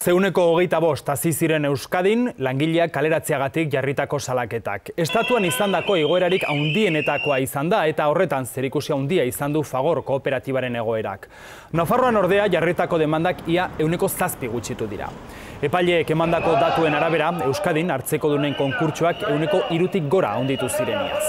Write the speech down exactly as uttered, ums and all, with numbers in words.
Zeuneko hogeita bost hasi ziren Euskadin langileak kaleratzeagatik jarritako salaketak. Estatuan izandako igoerarik handienetakoa izan da eta horretan zerikusi handia izan du Fagor kooperatibaren egoerak. Nafarroan ordea jarritako demandak ia ehuneko zazpi gutxitu dira. Epaileek emandako datuen arabera, Euskadin hartzekodunen konkurtsoak ehuneko hirutik gora handitu zireniaz.